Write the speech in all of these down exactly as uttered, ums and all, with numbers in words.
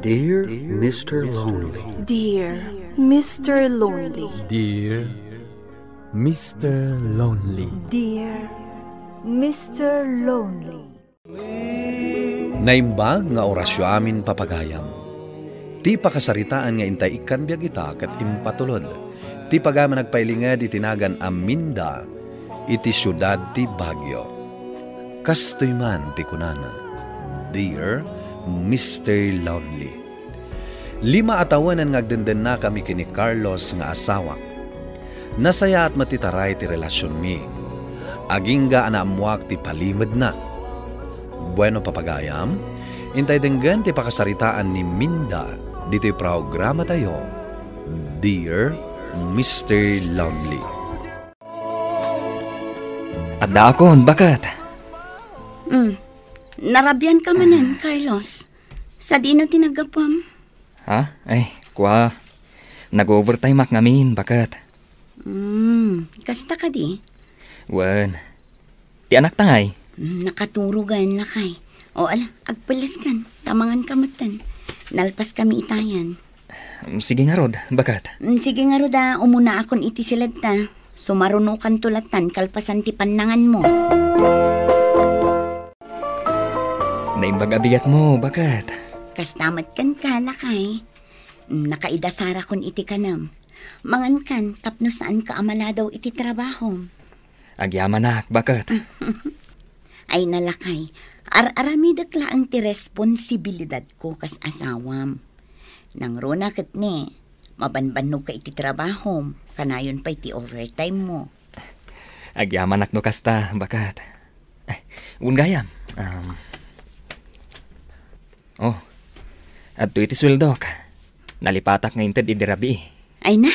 Dear Mister Lonely. Dear Mister Lonely. Dear Mister Lonely. Dear Mister Lonely. Naimbag nga orasyo amin, papagayam. Ti pakasaritaan nga intay ikkan biag ita ket impatulod ti pagayam a nagpailinged iti nagan a Minda iti siudad ti Baguio. Kastoy man ti kunana, "Dear Mister Lonely." Lima a tawenen nga agdendennakami ken ni Carlos nga asawak. Nasayaat met ti taray ti relasionmi. Agingga a naammoak ti palimedna. Bueno, papagayam, intay denggen ti pakasaritaan ni Minda ditoy programatayo, Dear Mister Lonely. Addaakon, baket. Mm. Narabian ka manen, Carlos. Sadino ti naggapuam? Ha? Ay, kua. Nag-overtime ak ngamin, baket. Mm, kasta kadi? Wen. Ti anakta ngay? Mm, nakaturogan, lakay. O, ala, agpellaskan. Ta mangan ka metten. Nalpas kami itayan. Mm, sige ngarud, baket. Mm, sige ngarud a, umunaakon iti siledta. Sumarunokanto lattan kalpasan ti pannanganmo. Naimbag a bigatmo, baket. Kasta met kenka, lakay. Mm, nakaidasarakon iti kanem. Mangankan tapno saanka a maladaw iti trabahom. Agyamanak, baket. Ay, lakay, ar-aramidek laeng ti responsibilidadko kas asawam. Nangruna ket ni, mabanbannog ka iti trabahom, kanayon pay ti overtime mo. Agyamanak no kasta, baket. Eh, wen gayam. Um, oh, adtoy ti sueldok. Nalipatak nga inted idi rabii. Ay na,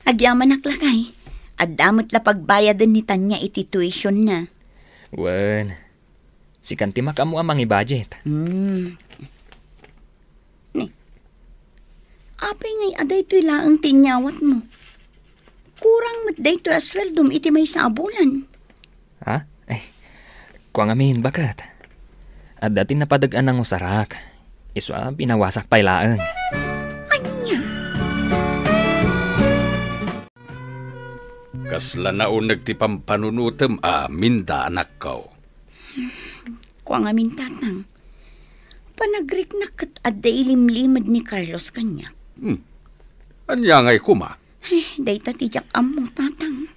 agyamanak lakay. Adda met la pagbayaden ni Tanya iti tuition na. Wen, sikan ti makaammo a mangi-budget. Hmm. Ni, apay ngay a daytoy laeng ti inyawatmo? Kurang met daytoy a sueldom iti maysa a bulan. Ha? Eh, kua ngamin, baket. Adda ti napadeg a nangusarak. Isu a binawasak pay laeng. Ania? Kasla nauneg ti pampanunotem a Minda, anakko. Kua ngamin, tatang. Panagriknak ket adda ilimlimed ni Carlos kaniak. Hmm. Ania ngay koma? Eh, dayta ti diak ammo, tatang.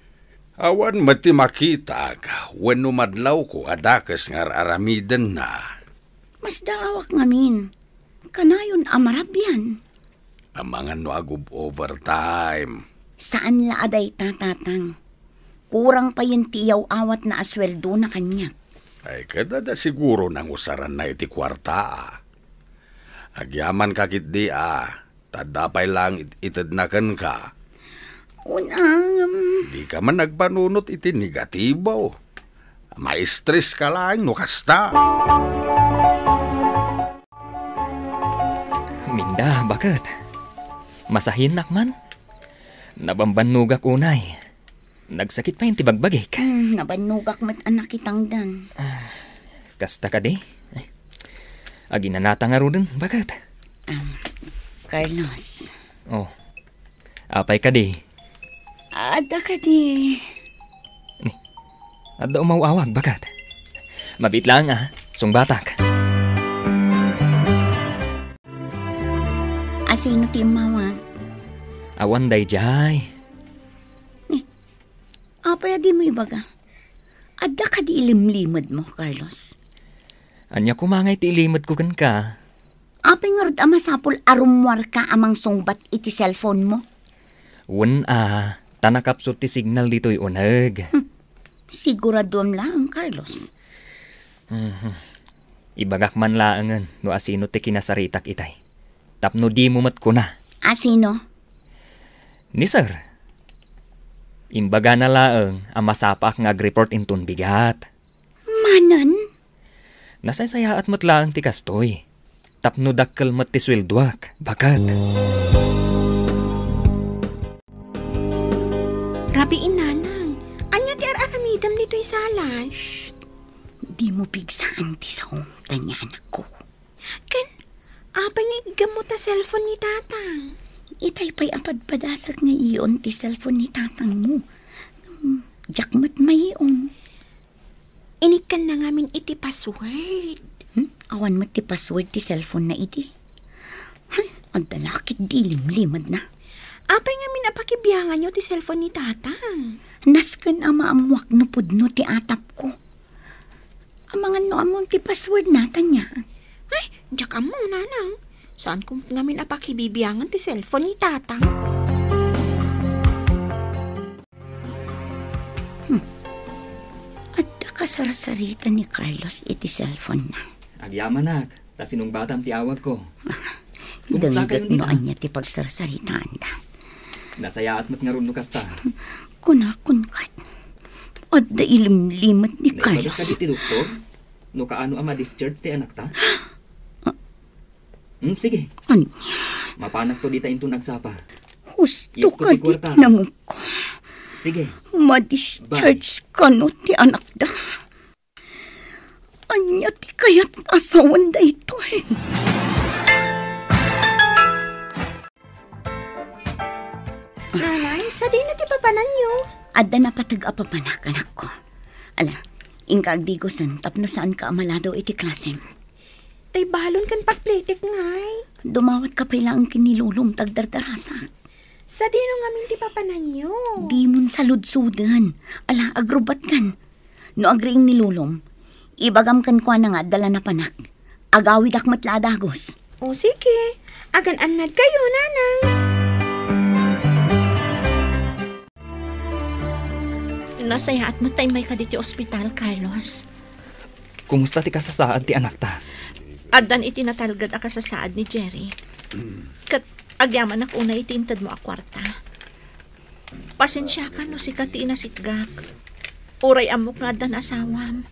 Awan met ti makitak wenno madlawko a dakes nga ar-aramidenna. Masdaawak ngamin. Kanayon a marabian. Amangan no agub-overtime. Saan la a dayta, tatang. Kurang payen ti iyaw-awatna a sueldona kaniak. Ay, ket adda siguro nangusaranna iti kuarta, a. Agyamanka ketdi, a. Ta adda pay laeng it-, itedna kenka. Unang, um, Dika man agpanunot iti negatibo. Maistres ka laeng no kasta. Minda, baket. Masahiennak man. Nabambannogak unay. Nagsakit pay ti bagbagik. Hmm, nabannogak met a nakitangdan. Ah, kasta kadi? Ay, aginanata ngaruden, baket. Um, Carlos. Oh. Apay kadi? Adda kadi? Ni, adda umaw-awag, baket. Mabiit laeng, a. Sungbatak. Asino ti immawag? Awan daydiay. Ni, apay a dimo ibaga? Adda kadi ilimlimedmo, Carlos? Ania koma ngay ti ilimedko kenka? Apay ngarud a masapul a rummuarka a mangsungbat iti cellphone mo? Wen a, ta nakapsut ti signal ditoy uneg. Hmm. Siguraduem laeng, Carlos. Mhm. Ibagak man laengen no asino ti kinasaritak itay. Tapno dimo met kuna. Asino? Ni Sir. Imbagana laeng a masapaak nga agreport inton bigat. Manen? Nasaysayaat met laeng ti kastoy. Tapno dakkel met ti sueldoak, baket. Rabii, nanang. Ania ti ar-aramidem ditoy salas? Shh! Dimo pigsaan ti saom, Tanya, anakko. Ken, Apay nga iggammo ta cellphone ni Tatang? Itay pay a padpadasek nga iyon ti cellphone ni Tatangmo. Hmm, diak met maion. Inikkanna ngamin iti password. Hmm? Awan met ti password ti cellphone na idi. Hay, adda la ket di limlimedna. Apay ngamin a pakibianganyo ti cellphone ni Tatang? Nasken a maammoak no pudno ti atapko. Amangan no ammom ti password na, Tanya. Ay, diak ammo, Nanang. Saanko met ngamin a pakibibiangan ti cellphone ni Tatang. Hmm. Adda kasarsarita ni Carlos iti cellphone na. Agyamanak, ta sinungbatam ti awagko. Kumusta kayo, Dengget no Nina? Ania ti pagsarsaritaanda. Nasayaat met ngarud no kasta. Kunakon kat. Adda ilimlimet ni Carlos. Naibagak ka di ti doktor? No kaano a ma-discharge ti anakta? Hmm, sige. Ania? Mapanakto dita inton agsapa. Husto ka di tinangko. Sige. Ma-discharge kano ti anakda? Ania ti kayat asawan daytoy? Nanay, sadino ti papananyo? Adda napateg a papanak, anakko. Ala, inka agdigosen tapno saanka a maladaw iti klasem. Tay balon ken pagplitik ngay. Dumawatka pay laeng ken ni Lolom ta agdardarasak. Sadino ngamin ti papananyo? Dimon saludsoden. Ala, agrubbatkan. No agriing ni Lolom, ibagam kenkuana nga adda la napanak. Agawidak met la a dagus. O, sige. Agan-annad kayo, Nanang. Nasayaat met ta immayka ditoy ospital, Carlos. Kumusta ti kasasaad ti anakta? Addan iti natalged a kasasaad ni Jerry. Ket agyamanak unay iti intedmo a kuarta. Pasensiakan no sika ti inasitgak. Uray ammok nga addan asawam.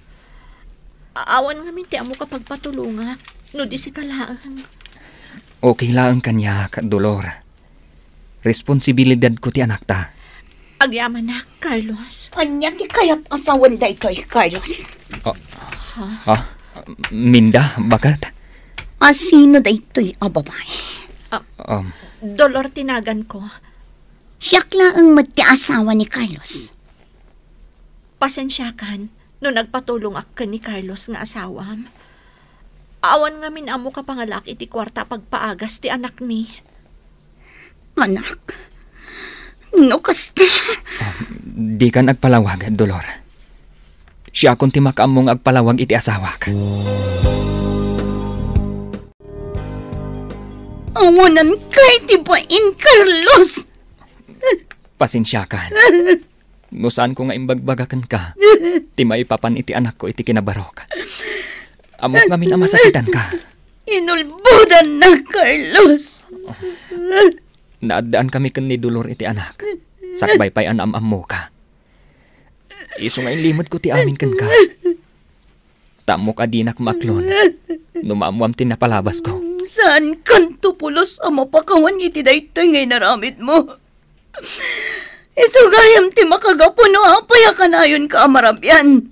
A-, awan ngamin ti ammok a pagpatulongak no di sika laeng. Okay laeng kaniak, Dolor. Responsibilidadko ti anakta. Agyamanak, Carlos. Ania ti kayat asawan daytoy, Carlos? Ah, ah, Minda, baket? A sino daytoy a babae? Ah, Um, Dolor ti naganko. Siak laeng met ti asawa ni Carlos. Pasensiakan no nagpatulongak ken ni Carlos nga asawam. Awan ngamin ammok a pangalaak iti kuarta a pagpaagas ti anakmi. Anak, no kasta. Ah, dikan agpalawag, Dolor. Siakon ti makaammo nga agpalawag iti asawak. Awanan kay ti bain, Carlos! Pasensiakan. No saanko nga imbagbaga kenka ti maipapan iti anakko iti kinabarok. Ammok ngamin a masakitanka. Inulbodanna, Carlos. Naaddankami ken ni Dolor iti anak. Sakbay pay a naam-ammoka. Isu nga inlimedko ti amin kenka. Ta ammok a dinak maaklon no maammoam ti napalabasko. Saankanto pulos a mapakawan iti daytoy nga inaramidmo. Isu gayam ti makagapu no apay a kanayonka a marabian.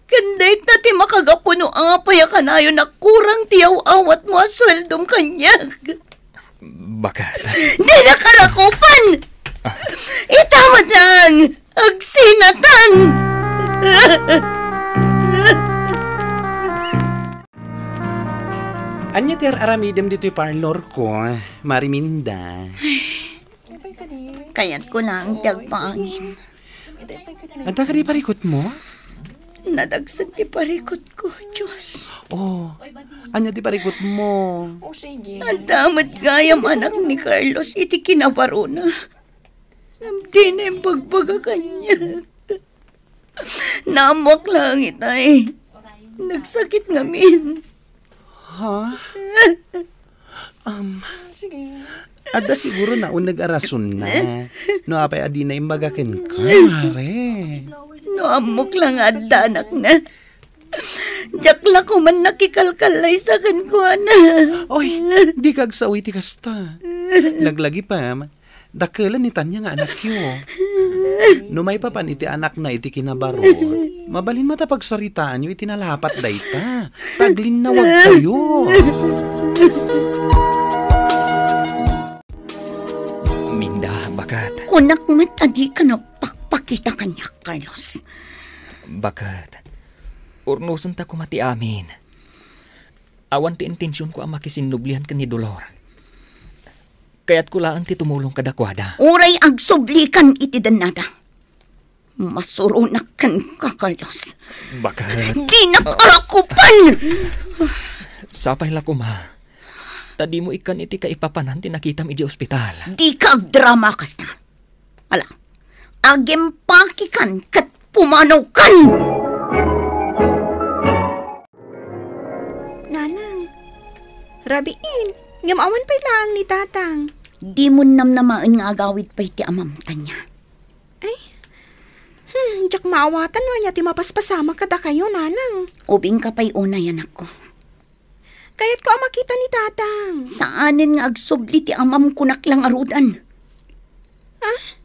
Ken dayta ti makagapu no apay a kanayon a kurang ti yaw-awatmo a sueldom kaniak. Baket? Dinaka rakupan! Ah. Ita met laeng! Agsinatan! Ania ti ar-aramidem ditoy parlor ko, Mari Minda? Kayatko laeng ti agpaangin. Adda kadi parikutmo? Nadagsen ti parikutko, Diyos. Oh, ania ti parikutmo? Adda met gayam anak ni Carlos iti kinabarona. Ngem dina imbagbaga kaniak. Naammoak laeng itay. Nagsakit ngamin. Ha? Um, adda siguro nauneg a rasonna. No apay a dina imbaga kenka, Mare. No ammok la nga adda anakna, diak la koman nakikalkallaysa kenkuana. Oy, dika agsao iti kasta. Laglagipem, dakelen ni Tanya nga anakyo. No maipapan iti anakna iti kinabarot, mabalin met a pagsaritaanyo iti nalapat dayta. Taglinnawagkayo. Kunak met a dika nagpakpakita kaniak, Carlos. Baket, urnosenta koma ti amin. Awan ti intensionko a makisinnublian ken ni Dolor. Kayatko laeng ti tumulong kadakuada. Uray agsublikan iti dennada. Masuronak kenka, Carlos. Baket. Dinak arakupan! Sapay la koma. Ta dimo ikkan iti kaipapanan ti nakitam idiay ospital. Dika agdrama kasta. Ala, agimpakikan ket pumanawkan! Nanang, rabiin, ngem awan pay laeng ni Tatang. Dimo namnamaen nga agawid pay ti amam, Tanya. Ay, hmm, diak maawatan no ania ti mapaspasamak kadakayo, Nanang. Ubingka pay unay, anakko. Kayatko a makita ni Tatang. Saanen nga agsubli ti amam, kunak la ngaruden. Ah?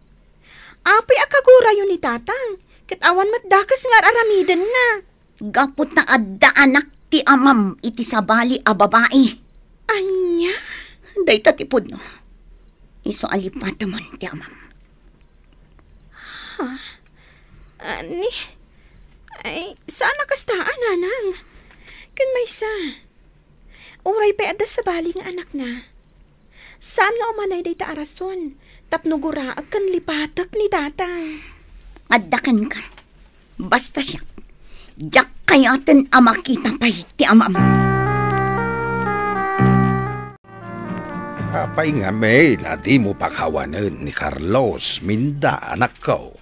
Apay a kagurayo ni Tatang, ket awan met dakes nga ar-aramidenna. Gapu ta adda anak ti amam iti sabali a babai. Ania? Dayta ti pudno. Isu a lipatemon ti amam. Ha? Ani? Ay, saan a kasta, a, Nanang. Ken maysa, uray pay adda sabali nga anakna, saan nga umanay dayta a rason tapno guraek ken lipatek ni Tatang. Adda kenka. Basta siak, diak kayaten a makita pay ti amam. Apay ngamin a dimo pakawanen ni Carlos, Minda, anakko?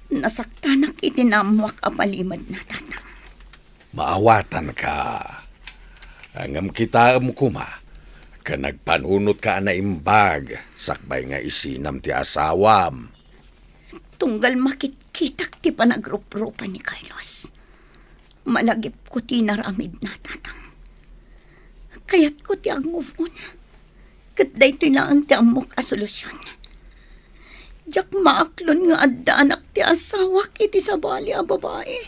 Nasaktanak iti naammoak a palimed na, Tatang. Maawatanka. Ngem kitaem koma, ken agpanunotka a naimbag, sakbay nga isinam ti asawam. Tunggal makitkitak ti panagruprupa ni Carlos, malagipko ti inaramidna, Tatang. Kayatko ti ag-move on, ket daytoy laeng ti ammok a solusion. Diak maaklon nga adda anak ti asawak iti sabali a babai.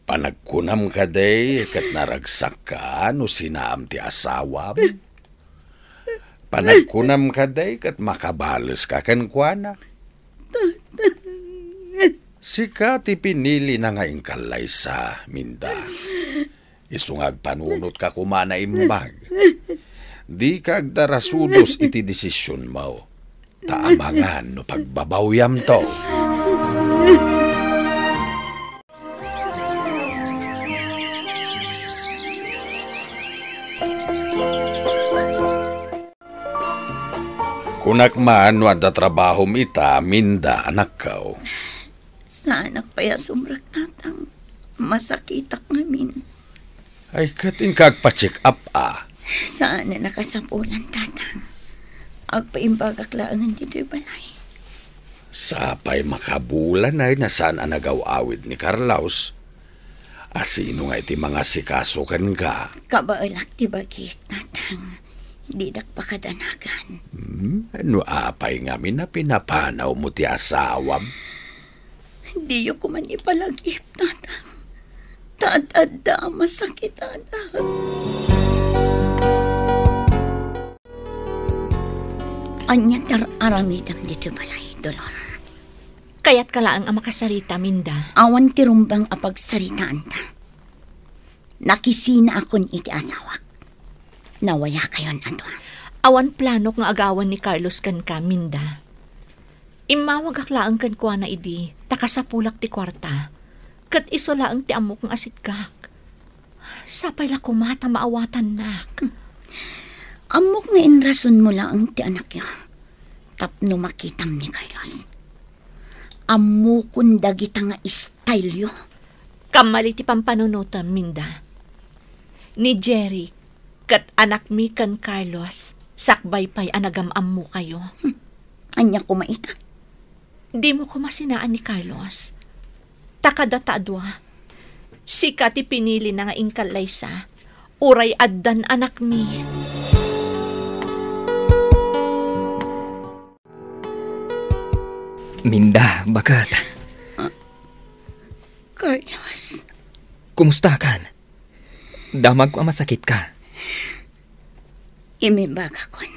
Panagkunam kadi ket naragsakka no sinaam ti asawam? Panagkunam kadi ket makabaleska kenkuana? Sika ti pinilina nga inkallaysa, Minda. Isu nga agpanunotka koma a naimbag. Dika agdarasudos iti desisionmo, ta amangan no pagbabawyamto. Kunak man no adda trabahom ita, Minda, anakko. Saanak pay a sumrek, Tatang. Masakitak ngamin. Ay, ket inka agpa-check up, a. Saan a nakasapulan, Tatang. Agpaimbagak laengen ditoy balay. Sapay makabulan ay na saan a nagaw-awid ni Carlos. A sino nga iti mangasikaso kenka? Kabaelak ti bagik, Tatang. Didak pakadanagan. Hmm, no apay ngamin a pinapanawmo ti asawam? Diyo koman ipalagip, Tatang. Ta ad-adda a masakitan. Ania ti ar-aramidem ditoy balay, Dolor? Kayatka laeng a makasarita, Minda. Awan ti rumbeng a pagsaritaanta. Nakisinaakon iti asawak. Nawayakayon a dua. Awan planok nga agawan ni Carlos kenka, Minda. Immawagak laeng kenkuana idi ta kasapulak ti kuarta, ket isu laeng ti ammok nga asiddegak. Sapay la koma ta maawatannak. Ammok nga inrasonmo laeng ti anakyo tapno makitam ni Carlos. Ammokon dagita nga style-yo. Kammali ti pampanunotem, Minda. Ni Jerry ket anakmi ken Carlos, sakbay pay a nagam-ammokayo. Hmm. Ania koma ita? Dimo koma sinaan ni Carlos. Ta kadata a dua, sika ti pinilina nga inkallaysa, uray addan anakmi. Minda, baket. Ah, Carlos. Kumustakan? Damagko a masakitka. Imbagakon.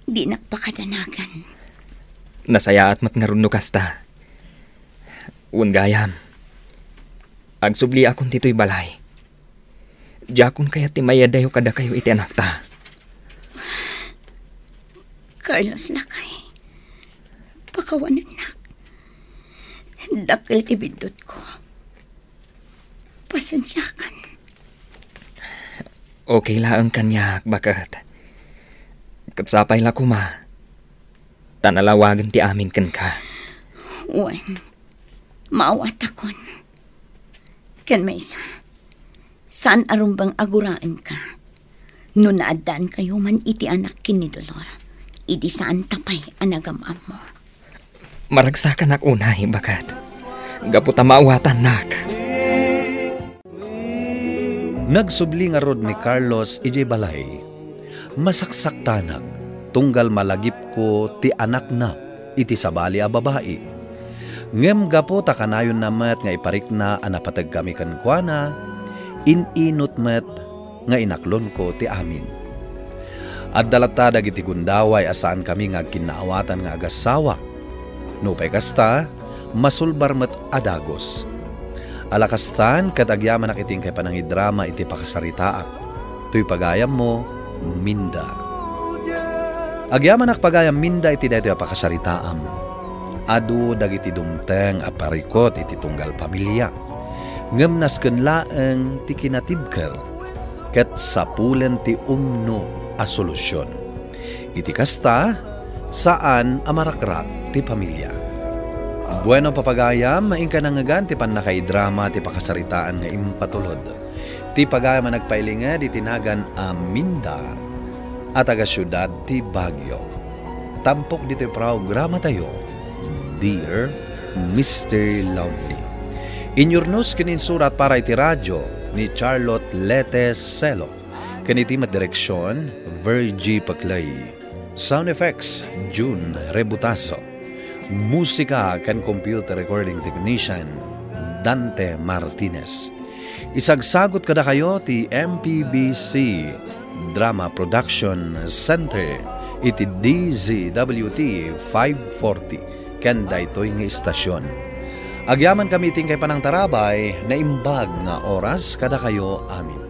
Dinak pakadanagan. Nasayaat met ngarud no kasta. Wen gayam, agsubliakon ditoy balay. Diakon kayat ti mayadayo kadakayo iti anakta. Carlos, lakay. Pakawanennak. Dakkel ti biddutko. Pasensiakan. Okay laeng kaniak, baket. Ket sapay la koma ta nalawagen ti amin kenka. Wen, maawatakon. Ken maysa, saan a rumbeng a guraenka. No naaddaankayo man iti anak ken ni Dolor, idi saanta pay a nagam-ammo. Maragsakanak unay, baket. Gapu ta maawatannak. Nagsubli ngarud ni Carlos idiay balay. Masaksaktanak, tunggal malagipko ti anakna iti sabali a babai. Ngem gapu ta kanayonna met nga iparikna a napategkami kenkuana, in-inut met nga inaklonko ti amin. Adda latta dagiti gundaway a saankami nga agkinnaawatan nga agassawa. Nupay kasta, masulbar met a dagus. Ala kastan, ket agyamanak iti inkay panangidrama iti pakasaritaak. Toy pagayammo, Minda. Agyamanak pagayam Minda iti daytoy a pakasaritaam. Adu dagiti dumteng a parikut iti tunggal pamilia. Ngem nasken laeng ti kinatibker ket sapulen ti umno a solusion. Iti kasta, saan a marakrak ti pamilia. Bueno, papagayam, inka nangngegan ti pannakaidrama ti pakasaritaan nga impatulod. Ti pagayam a nagpailinged iti nagan a Minda a taga siudad ti Baguio. Tampok ditoy programatayo, Dear Mister Lonely. Inyurnos ken insurat para iti radyo ni Charlotte Lete Celo, ken iti met direksion, Virgie Paclay. Sound effects, June Rebutaso. Musika ken computer recording technician, Dante Martinez. Isagsagut kadakayo ti M P B C Drama Production Center iti D Z W T five forty ken daytoy nga istasion. Agyamankami iti inkay panangtarabay, naimbag nga oras kadakayo amin.